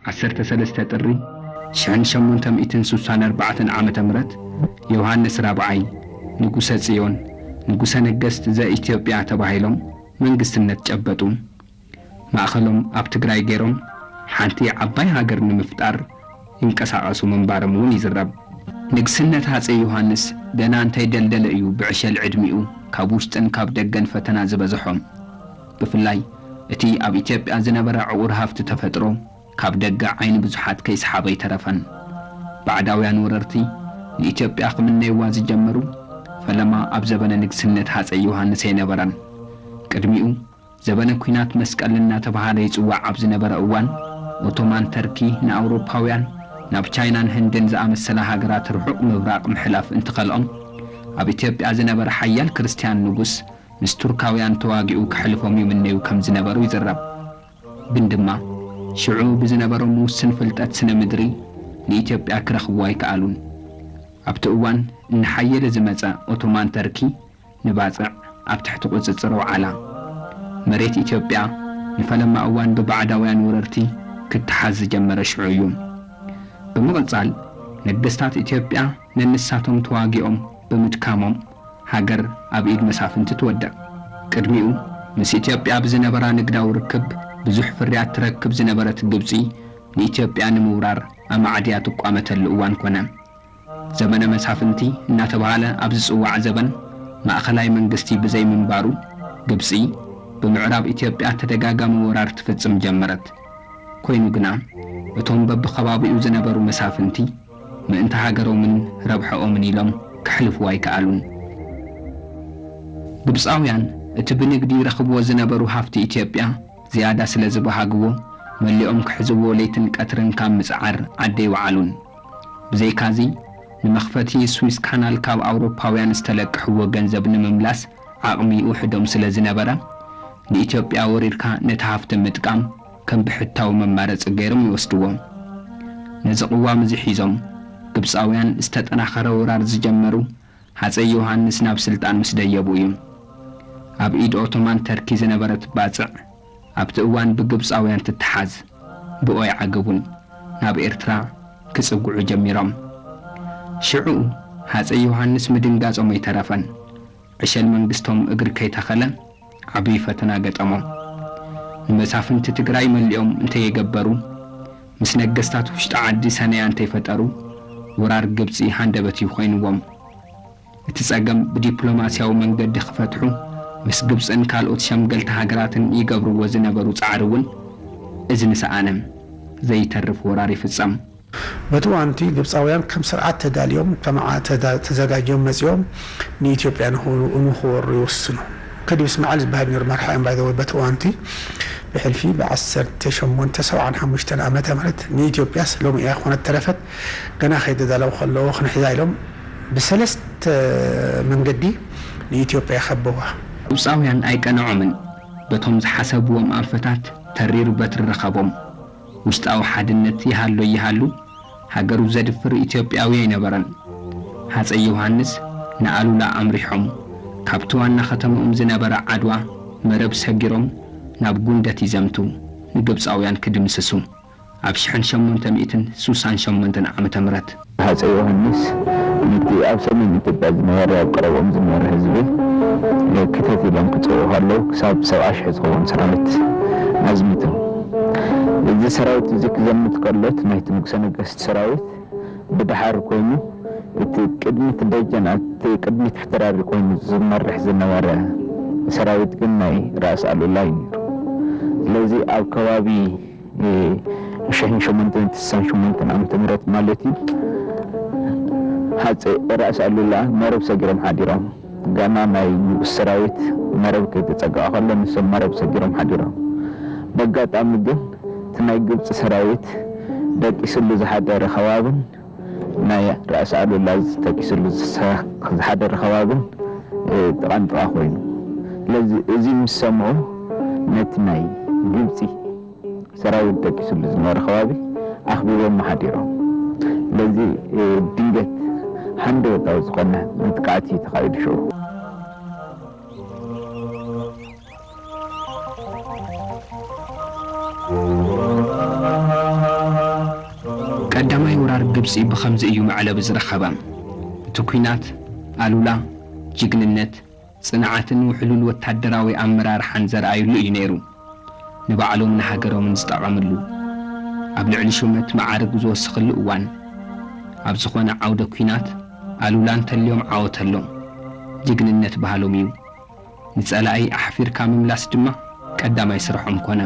ዓሰርተ ሰለስተ ጥሪ ሽሕን ሸሞንተ ሚእትን ስሳን ኣርባዕተን ዓመተ ምህረት፣ ዮሃንስ ራብዓይ ንጉሰ ጽዮን፣ ንጉሰ ነገስት ዘኢትዮጵያ ተባሂሎም መንግስትነት ጨበጡ። ማእኸሎም ኣብ ትግራይ ገይሮም ሓንቲ ዓባይ ሃገር ንምፍጣር ይንቀሳቐሱ ምንባሮም እውን ይዝረብ። ንግስነት ሃፀይ ዮሃንስ ገና እንተይደልደለ እዩ ብዕሸል ዕድሚኡ ካብ ውሽጥን ካብ ደገን ፈተና ዝበዝሖ። ብፍላይ እቲ ኣብ ኢትዮጵያ ዝነበረ ዕቑር ሃፍቲ ተፈጥሮ ካብ ደገ ዓይኒ ብዙሓት ከይሰሓበ ኣይተረፈን። ባዕዳውያን ወረርቲ ንኢትዮጵያ ክምነይዋ ዝጀመሩ ፈለማ ኣብ ዘበነ ንግስነት ሃፀይ ዮሃንስ ኣይነበረን። ቅድሚኡ ዘበነ ኲናት መስቀል እናተባህለ ይጽዋዕ ኣብ ዝነበረ እዋን፣ ኦቶማን ተርኪ ንኣውሮፓውያን ናብ ቻይናን ህንድን ዝኣመሰላ ሃገራት ርሑቕ ምብራቕ ምሕላፍ እንትኸልኦም፣ ኣብ ኢትዮጵያ ዝነበረ ሓያል ክርስትያን ንጉስ ምስ ቱርካውያን ተዋጊኡ ከሕልፎም ይምነዩ ከም ዝነበሩ ይዝረብ። ግን ድማ ሽዑ ብዝነበሮም ውስን ፍልጠት ስነ ምድሪ ንኢትዮጵያ ክረኽብዋ ኣይከኣሉን። ኣብቲ እዋን እናሓየለ ዝመጸ ኦቶማን ተርኪ ንባጽዕ ኣብ ትሕቲ ቁጽጽር ኣውዓላ። መሬት ኢትዮጵያ ንፈለማ እዋን ብባዕዳውያን ወረርቲ ክትሓዝ ዝጀመረ ሽዑ እዩ። ብምቕጻል ነገስታት ኢትዮጵያ ነንሳቶም ተዋጊኦም ብምድካሞም ሃገር ኣብ ኢድ መሳፍንቲ ትወድቕ። ቅድሚኡ ምስ ኢትዮጵያ ብዝነበራ ንግዳዊ ርክብ ብዙሕ ፍርያት ትረክብ ዝነበረት ግብጺ ንኢትዮጵያ ንምውራር ኣማዕድያ ትቋመተሉ እዋን ኮነ። ዘመነ መሳፍንቲ እናተባህለ ኣብ ዝጽዋዕ ዘበን ማእኸላይ መንግስቲ ብዘይምንባሩ ግብጺ ብምዕራብ ኢትዮጵያ ተደጋጋሚ ወራር ትፍጽም ጀመረት። ኮይኑ ግና እቶም በብኸባቢኡ ዝነበሩ መሳፍንቲ ምእንቲ ሃገሮምን ረብሐኦምን ኢሎም ከሕልፍዎ ኣይከኣሉን። ግብጻውያን እቲ ብንግዲ ይረኽብዎ ዝነበሩ ሃፍቲ ኢትዮጵያ ዝያዳ ስለ ዝበሃግዎ መሊኦም ክሕዝዎ ለይትን ቀትርን ካብ ምጽዓር ዓዲ ኣይወዓሉን። ብዘይካዚ ንመኽፈቲ ስዊስ ካናል ካብ ኣውሮፓውያን ዝተለቅሕዎ ገንዘብ ንምምላስ ዓቕሚ ይውሕዶም ስለ ዝነበረ ንኢትዮጵያ ወሪርካ ነቲ ሃፍቲ ምጥቃም ከም ብሕታዊ መማረፂ ገይሮም ይወስድዎ። ነዚ ቅዋም እዚ ሒዞም ግብፃውያን ዝተጠናኸረ ወራር ዝጀመሩ ሃፀይ ዮሃንስ ናብ ስልጣን ምስ ደየቡ እዩ። ኣብ ኢድ ኦቶማን ተርኪ ዝነበረት ባፅዕ ኣብቲ እዋን ብግብፃውያን ትተሓዝ ብኦ ይዓገቡን ናብ ኤርትራ ክጽግዑ ጀሚሮም። ሽዑ ሃፀይ ዮሃንስ ምድንጋጾም ኣይተረፈን። ዕሸል መንግስቶም እግሪ ከይተኸለ ዓብዪ ፈተና ገጠሞ። ንመሳፍንቲ ትግራይ መሊኦም እንተየገበሩ ምስ ነገስታት ውሽጢ ዓዲ ሰነያ እንተይፈጠሩ ወራር ግብፂ ሃንደበት እዩ ኮይንዎም። እቲ ጸገም ብዲፕሎማስያዊ መንገዲ ክፈትሑ ምስ ግብጽን ካልኦት ሸምገልቲ ሃገራትን ይገብርዎ ዝነበሩ ጻዕሪ እውን እዚ ንሰኣነ ዘይተርፍ ወራር ይፍጸም። በቲ እዋንቲ ግብጻውያን ከም ስርዓት ተዳልዮም ተመዓ ተዘጋጅዮም መጺኦም ንኢትዮጵያ ንኽወሩ ይወስኑ። ከዲብ እስማዓል ዝበሃል ነይሩ መርሓ እዮም ባይዘወይ በቲ እዋንቲ ብሕልፊ ብ ዓሰርተ ሸሞንተ ሰብዓን ሓሙሽተን ዓመተ ምህረት ንኢትዮጵያስ ሎሚ እያ ኮነት ተረፈት ገና ከይተዳለዉ ከለዉ ክንሕዛ ኢሎም ብሰለስተ መንገዲ ንኢትዮጵያ ከበዋ። ግብፃውያን ኣይቀንዖምን። በቶም ዝሓሰብዎም ኣንፈታት ተሪር በትሪ ረኸቦም። ውሽጣዊ ሓድነት ይሃሎ ይሃሉ ሃገሩ ዘድፍር ኢትዮጵያዊ ኣይነበረን። ሃፀይ ዮሃንስ ንኣሉላ ኣምሪሖም ካብቲ ዋና ከተምኦም ዝነበረ ዓድዋ መረብ ሰጊሮም ናብ ጉንደት ይዘምቱ ንግብፃውያን ክድምስሱ። ኣብ ሽሕን ሸሞንተ ሚእትን ስሳን ሸሞንተን ዓመተ ምህረት። ሃፀይ ዮሃንስ ነቲ ኣብ ሰሜን ኢትዮጵያ ዝነበረ ኣብ ቀረብኦም ዝነበረ ህዝቢ ክተት ኢሎም ክፅውዑ ከለዉ ክሳብ ሰብዓ ሽሕ ዝኸውን ሰራዊት ኣዝሚቶም። እዚ ሰራዊት እዚ ክዘምት ከሎ እቲ ናይቲ ንጉሰ ነገስት ሰራዊት ብድሓር ኮይኑ እቲ ቅድሚት ደጀን እቲ ቅድሚት ሕተራሪ ኮይኑ ዝመርሕ ዝነበረ ሰራዊት ግን ናይ ራእሲ ኣሉላ እዩ ነይሩ። ስለዚ ኣብ ከባቢ ሽሕን ሸሞንተን ስሳን ሸሞንተን ዓመተ ምህረት ማለት እዩ። ሃፀይ ራእሲ ኣሉላ መረብ ሰጊሮም ሓዲሮም። ገና ናይ ንጉስ ሰራዊት መረብ ከይተፀግዐ ከሎ ንሶም መረብ ሰጊሮም ሓዲሮም። በጋጣሚ ግን እቲ ናይ ግብፂ ሰራዊት ደቂስሉ ዝሓደረ ከባብን ናይ ራእሲ ኣሉላ ተቂስሉ ዝሓደረ ከባብን ጥቓንጥቓ ኮይኑ። ስለዚ እዚ ምስ ሰምዑ ነቲ ናይ ግብፂ ሰራዊት ደቂስሉ ዝነበረ ከባቢ ኣኽቢቦም ሓዲሮም። ስለዚ ድንገት ሃንደበታዊ ዝኾነ መጥቃዕቲ እዩ ተኻይዱ ሽዑ። ቀዳማይ ወራር ግብጺ ብኸምዚ እዩ መዕለቢ ዝረኸበ። እቲ ኲናት ኣሉላ ጅግንነት፣ ጽንዓትን ውሕሉል ወታደራዊ ኣመራርሓን ዘርኣዩሉ እዩ ነይሩ። ንባዕሎምን ሃገሮምን ዝጠቐምሉ፣ ኣብ ልዕሊ ሹመት መዓርግ ዝወስኽሉ እዋን፣ ኣብ ዝኾነ ዓውደ ኲናት ኣሉላ እንተልዮም ዓወት ኣሎ። ጅግንነት ባህሎም እዩ። ንጸላኢ ኣሕፊርካ ምምላስ ድማ ቀዳማይ ስርሖም ኮነ።